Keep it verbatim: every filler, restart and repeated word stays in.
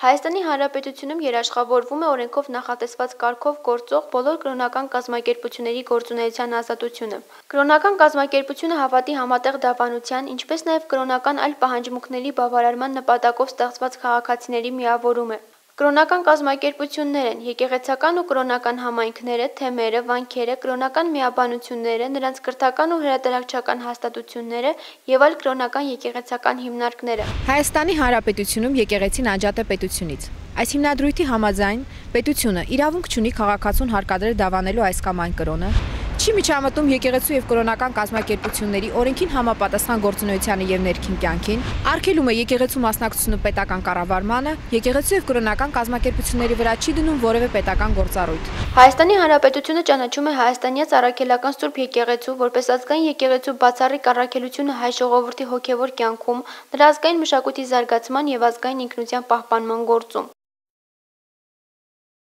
Հայաստանի Հանրապետությունում երաշխավորվում է օրենքով նախատեսված կարգով գործող բոլոր կրոնական կազմակերպությունների գործունեության ազատությունը։ Կրոնական կազմակերպությունը հավատի համատեղ դավանության, ինչպես նաև կրոնական այլ պահանջմունքների բավարարման նպատակով ստեղծված քաղաքացիների միավորում է։ Կրոնական կազմակերպություններ են եկեղեցական ու կրոնական համայնքները, թեմերը, վանքերը, կրոնական միաբանությունները, նրանց կրթական ու հրատարակչական հաստատությունները և այլ կրոնական եկեղեցական հիմնարկները։ Հայաստանի Հանրապետությունում եկեղեցին անջատ է պետությունից։ Այս հիմնադրույթի համաձայն պետությունը իրավունք չունի քաղաքացուն հարկադրել դավանելու այս կամ այն կրոնը, չի միջամտում եկեղեցու և կրոնական կազմակերպությունների օրենքին համապատասխան գործունեությանը և ներքին կյանքին, արգելում է եկեղեցու մասնակցությունը պետական կառավարմանը, եկեղեցու և կրոնական կազմակերպությունների վրա չի դնում որևէ պետական գործառույթ։ Հայաստանի Հանրապետությունը ճանաչում է հայաստանյաց առաքելական Սուրբ եկեղեցու որպես ազգային եկեղեցու բացառիկ առաքելությունը հայ ժողովրդի հոգևոր կյանքում, նրա ազգային մշակույթի զարգացման և ազգային ինքնության պահպանման գործում։